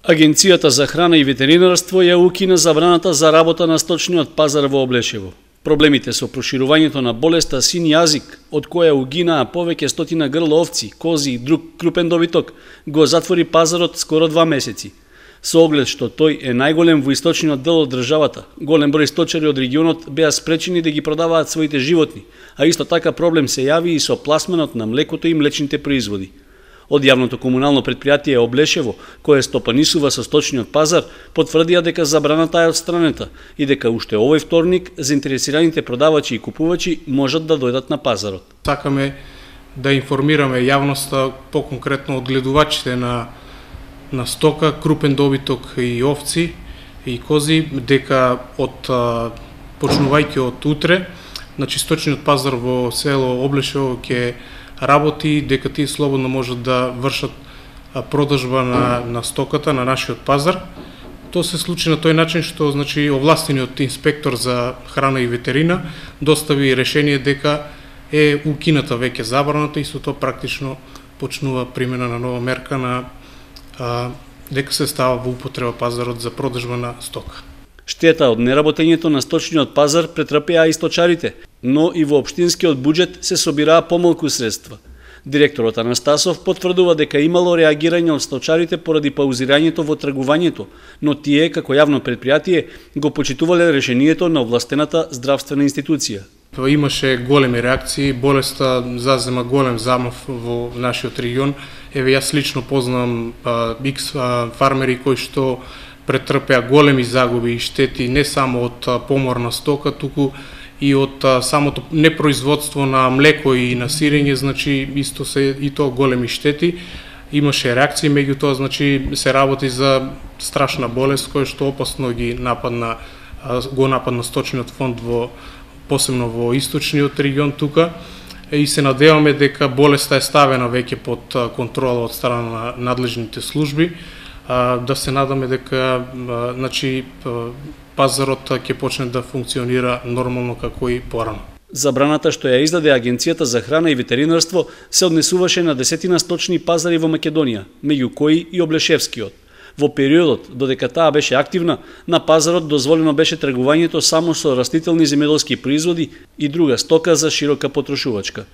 Агенцијата за храна и ветеринарство ја укина забраната за работа на сточниот пазар во Облешево. Проблемите со проширувањето на болеста син јазик, од која угинаа повеќе стотина грла овци, кози и друг крупен добиток, го затвори пазарот скоро 2 месеци. Со оглед што тој е најголем во источниот дел од државата, голем број сточари од регионот беа спречени да ги продаваат своите животни, а исто така проблем се јави и со пласманот на млекото и млечните производи. Од јавното комунално претпријатие Облешево, кое стопанисува со сточниот пазар, потврдија дека забраната е отстранета и дека уште овој вторник заинтересираните продавачи и купувачи можат да дојдат на пазарот. Сакаме да информираме јавноста, поконкретно одгледувачите на стока, крупен добиток и овци и кози, дека почнувајќи од утре, значи сточниот пазар во село Облешево ќе работи, дека тие слободно можат да вршат продажба на стоката на нашиот пазар. Тоа се случи на тој начин што значи овластениот инспектор за храна и ветерина достави решение дека е укината веќе забраната и со тоа практично почнува примена на нова мерка на дека се става во употреба пазарот за продажба на стока. Штета од неработењето на сточниот пазар претрпеа и сточарите, но и во општинскиот буџет се собираа помалку средства. Директорот Анастасов потврдува дека имало реагирање од сточарите поради паузирањето во тргувањето, но тие, како јавно предпријатие, го почитувале решението на овластената здравствена институција. Имаше големи реакции, болеста зазема голем замав во нашиот регион. Еве јас лично познавам X фармери кои што претрпеа големи загуби и штети не само од помор на стока, туку и од самото непроизводство на млеко и на сирење, значи исто се и тоа големи штети. Имаше реакции, меѓутоа значи се работи за страшна болест која што опасно го нападна сточниот фонд посебно во источниот регион тука и се надеваме дека болеста е ставена веќе под контрола од страна на надлежните служби. Да се надаме дека значи пазарот ќе почне да функционира нормално како и порано. Забраната што ја издаде Агенцијата за храна и ветеринарство се однесуваше на десетина сточни пазари во Македонија, меѓу кои и Облешевскиот. Во периодот додека таа беше активна, на пазарот дозволено беше тргувањето само со растителни земјоделски производи и друга стока за широка потрошувачка.